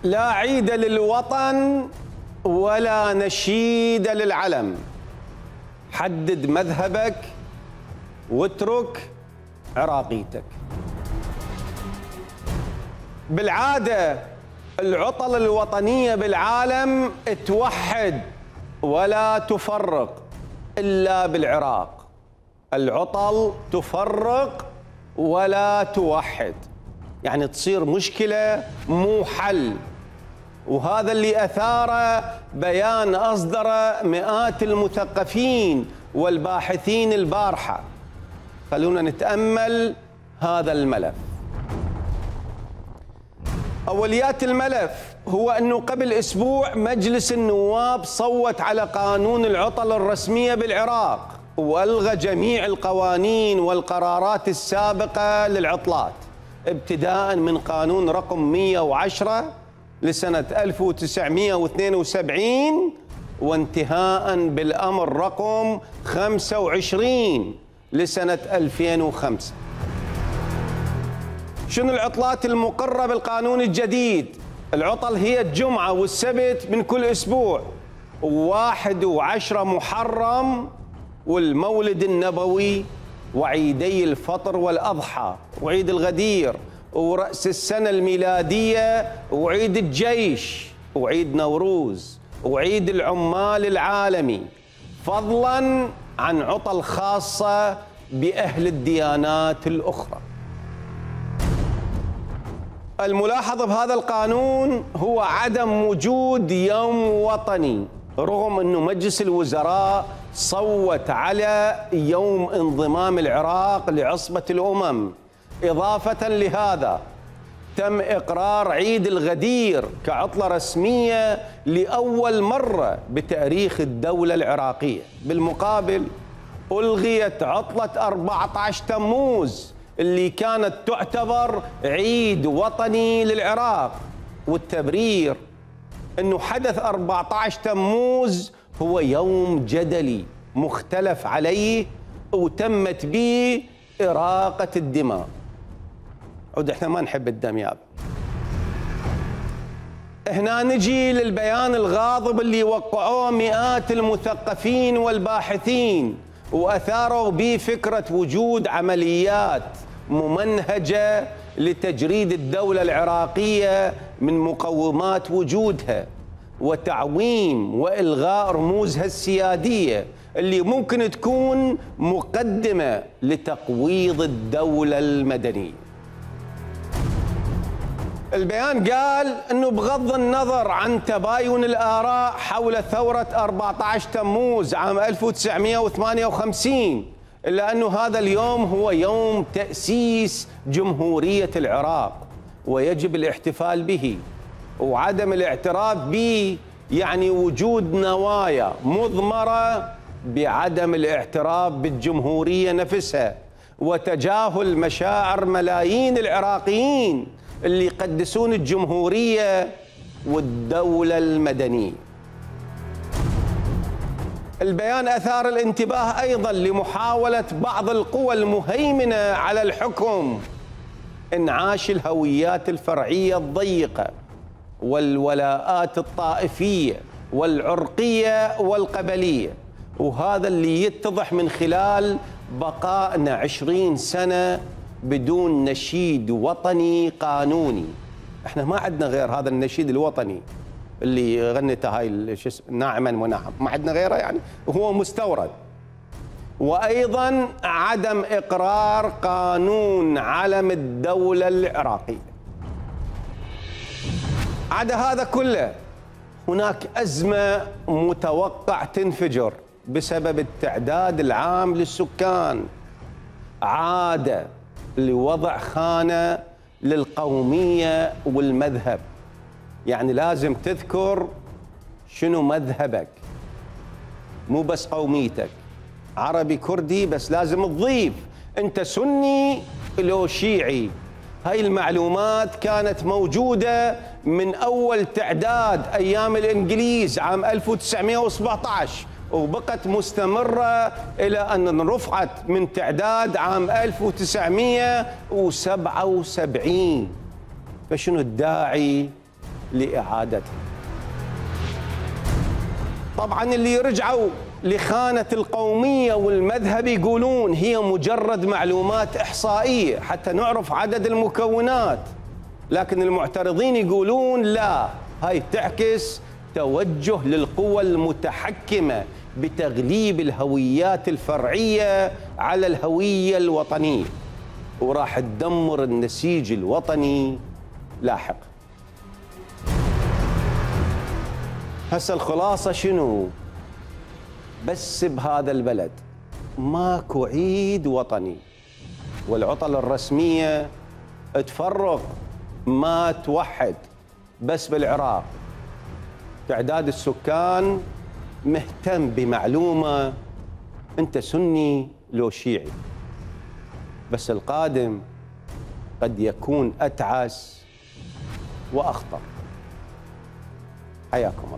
لا عيد للوطن ولا نشيد للعلم. حدد مذهبك واترك عراقيتك. بالعادة العطل الوطنية بالعالم توحد ولا تفرق إلا بالعراق. العطل تفرق ولا توحد، يعني تصير مشكلة مو حل، وهذا اللي أثاره بيان أصدره مئات المثقفين والباحثين البارحة. خلونا نتأمل هذا الملف. أوليات الملف هو أنه قبل أسبوع مجلس النواب صوت على قانون العطل الرسمية بالعراق وألغى جميع القوانين والقرارات السابقة للعطلات، ابتداء من قانون رقم 110 لسنة 1972 وانتهاء بالأمر رقم 25 لسنة 2005. شنو العطلات المقرة بالقانون الجديد؟ العطل هي الجمعة والسبت من كل أسبوع، 1 و10 محرم والمولد النبوي وعيدي الفطر والأضحى وعيد الغدير ورأس السنة الميلادية وعيد الجيش وعيد نوروز وعيد العمال العالمي، فضلاً عن عطل خاصة بأهل الديانات الأخرى. الملاحظ بهذا القانون هو عدم وجود يوم وطني، رغم أنه مجلس الوزراء صوت على يوم انضمام العراق لعصبة الأمم. إضافة لهذا تم إقرار عيد الغدير كعطلة رسمية لأول مرة بتاريخ الدولة العراقية. بالمقابل ألغيت عطلة 14 تموز اللي كانت تعتبر عيد وطني للعراق، والتبرير أنه حدث 14 تموز هو يوم جدلي مختلف عليه وتمت به إراقة الدماء. عود احنا ما نحب الدم ياب. هنا نجي للبيان الغاضب اللي وقعوه مئات المثقفين والباحثين وأثاروا به فكرة وجود عمليات ممنهجة لتجريد الدولة العراقية من مقومات وجودها وتعويم وإلغاء رموزها السيادية اللي ممكن تكون مقدمة لتقويض الدولة المدنية. البيان قال أنه بغض النظر عن تباين الآراء حول ثورة 14 تموز عام 1958، إلا أنه هذا اليوم هو يوم تأسيس جمهورية العراق ويجب الاحتفال به، وعدم الاعتراف به يعني وجود نوايا مضمرة بعدم الاعتراف بالجمهورية نفسها وتجاهل مشاعر ملايين العراقيين اللي يقدسون الجمهورية والدولة المدنية. البيان أثار الانتباه أيضا لمحاولة بعض القوى المهيمنة على الحكم انعاش الهويات الفرعية الضيقة والولاءات الطائفية والعرقية والقبلية، وهذا اللي يتضح من خلال بقائنا 20 سنة بدون نشيد وطني قانوني. احنا ما عندنا غير هذا النشيد الوطني اللي غنته هاي ناعما ونعم، ما عندنا غيره، يعني هو مستورد. وايضا عدم اقرار قانون علم الدولة العراقية. عدا هذا كله هناك أزمة متوقع تنفجر بسبب التعداد العام للسكان، عادة لوضع خانة للقومية والمذهب، يعني لازم تذكر شنو مذهبك، مو بس قوميتك، عربي كردي بس لازم تضيف أنت سني لو شيعي. هاي المعلومات كانت موجودة من أول تعداد أيام الإنجليز عام 1917 وبقت مستمرة إلى أن رفعت من تعداد عام 1977. فشنو الداعي لإعادتها. طبعا اللي رجعوا لخانة القومية والمذهب يقولون هي مجرد معلومات إحصائية حتى نعرف عدد المكونات، لكن المعترضين يقولون لا، هاي تعكس توجه للقوى المتحكمة بتغليب الهويات الفرعية على الهوية الوطنية، وراح تدمر النسيج الوطني لاحقا. هسه الخلاصة شنو؟ بس بهذا البلد ماكو عيد وطني، والعطل الرسمية تفرق ما توحد. بس بالعراق تعداد السكان مهتم بمعلومة أنت سني لو شيعي، بس القادم قد يكون أتعس وأخطر. حياكم.